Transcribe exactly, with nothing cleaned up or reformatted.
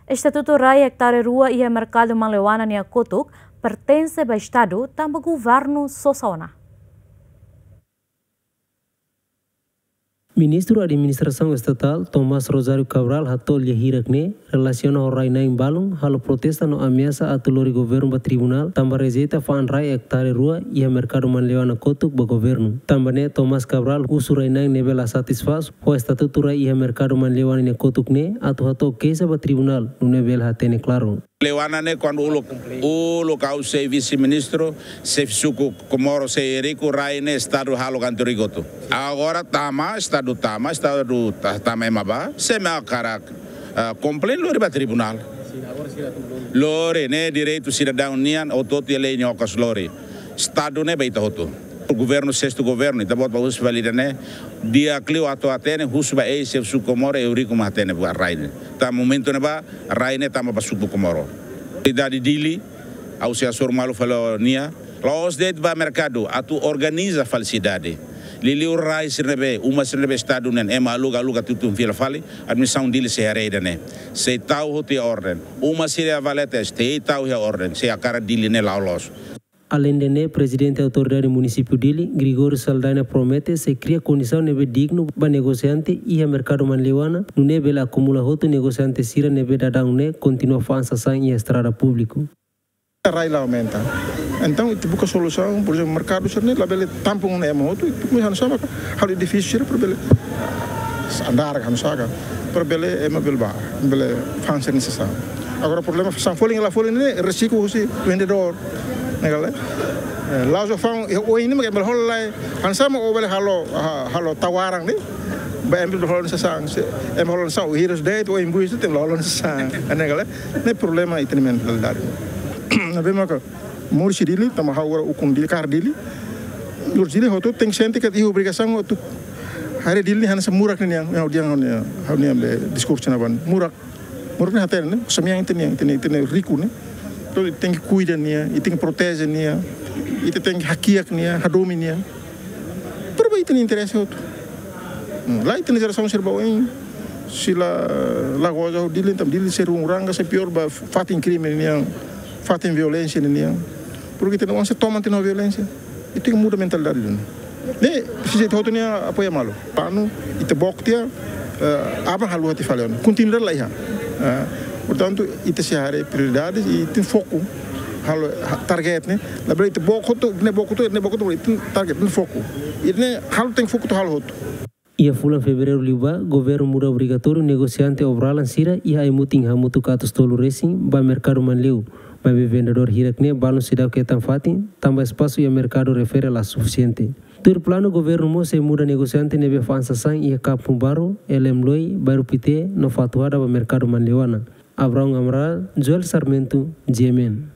Estatutu rai ektare rua iha merkadu Manleuana nia kotuk pertense ba Estadu, tanba governu sosa ona. Ministru Administrasaun Estatál, Tomás Rosário Cabral, hato'o lia hirak ne'e relasiona ho rai-na'in balun halo protesta no ameasa atu lori governu ba tribunál, tanba rejeita fa'an rai ektare rua iha merkadu Manleuana kotuk ba governu. Tanba ne'e, Tomás Cabral husu rai-na'in ne'ebé la satisfás ho estatutu rai iha merkadu Manleuana nia kotuk ne'e atu hato'o keixa ba tribunál, nune'e bele hatene klaru. Manleuana ne'e kuandu uluk, uluk ha'u sei vise-ministru, xefe suku Komoro sei riku, rai ne'e Estadu halo ganti rigotu. Agora tama, Estadu tama, Estadu ta-, tama ema bá, se ema hakarak, ah, komplain lori ba tribunál. Lori, ne'e direitu sidadaun nian, hotu-hotu iha lei nia okos lori. Estadu ne'e ba ita hotu. Governu, sestu governu, ita-boot bá husu fali ida-ne'e, di'ak liu atu hatene, husu ba eis-xefe suku Komoro, Eurico mak hatene buat rai ne'e. Tanba momentu ne'ebá, rai ne'e tama ba suku Komoro. Sidade Dili, ha'u sei hasoru malu fali ho nia, la'ós de'it ba merkadu, atu organiza fali sidade. Liuliu rai sira ne'ebé, uma sira ne'ebé Estadu nian, ema aluga, aluga tutun fila fali, administrasaun Dili sei haree ida-ne'e. Sei tau hotu iha orden. Uma sira iha Valetes, sei tau iha orden, se hakarak Dili ne'e la'o loos. Aleinde ne'e, Prezidente Autoridade Munisípiu Dili, Gregório Saldanha, promete sei kria kondisaun ne'ebé dignu ba negosiante iha merkadu Manleuana, nune'e bele akumula hotu negosiante sira ne'ebé daudaun ne'e kontinua fa'an sasán iha estrada públiku. Rai la aumenta. Entaun, ita buka solusaun, por ezemplu, merkadu sira ne'e labele tampung ona ema hotu, ita komesa hanesan maka halo edifísiu sira para bele andar ka hanesan ka, para bele ema bele bá, bele fa'an sira-nia sasán. Agora problema sasán folin la folin ne'e risku husi vendedór, ne'e ka lae? Eh, la'ós fa'an, eh, oin ne'e mak ema bele hola lai, hanesan mak ó bele halo, ha-, halo tawaran ne'e. Ba ema bele hola sasán, se ema hola sasán, o hirus de'it, o imbui se tem la hola sasán. Ne'e ka lae? Ne'e problema ita-nia mentalidade. Ne'ebé maka moris iha Dili, tanba ha'u agora ukun Dili, kaer Dili. Moris iha Dili hotu tenke sente katak iha obrigasaun atu haree Dili hanesan murak nian, ha'u dehan ha'u-nia, ha'u-nia be diskursu ne'ebá. Murak, murak ne'e hatene ne'e, samian ita-nian, ita-nia, ita-nia riku ne'e. Entaun, ita tenke kuida nia, ita tenke proteje nia, ita tenke hakiak nia, hadomi nia. Para ba ita-nia interese hotu. Hmm, lae, ita-nia jerasaun sira ba oin, se la, la goza ho Dili, entaun Dili sei runguranga, sei piór ba fatin krime nian, fatin violénsia nian. Porke ita-nia oan sei toman tiha ona violénsia. Ita tenke muda mentalidade duni. Ne'e presiza ita hotu-nia apoiu malu. Planu, ita book tiha, eh, aban halo hati fali ona. Kontinuidade la iha. Eh, portantu, ita sei haree prioridades i ita foku halo, ha-, target ne'e. Labele ita book hotu, ne'e book hotu, ne'e book hotu, ita target, ita foku. Ita-nia halo tenke foku atu halo hotu. Iha fulan Fevereiru liubá, governu muda obrigatóriu negosiante obralan sira iha ai-mutin hamutuk atus tolu resin ba merkadu Manleu, maibé vendedór hirak ne'e balun seidauk hetan fatin, tanba espasu iha merkadu refere la sufisiente. Tuir planu, governu mós sei muda negosiante ne'ebé fa'an sasán iha Kampung Baru, Elem Loi, Bairru Pité, no Fatuhada ba merkadu Manleuana. Abraão Amaral, Joel Sarmento, G M N.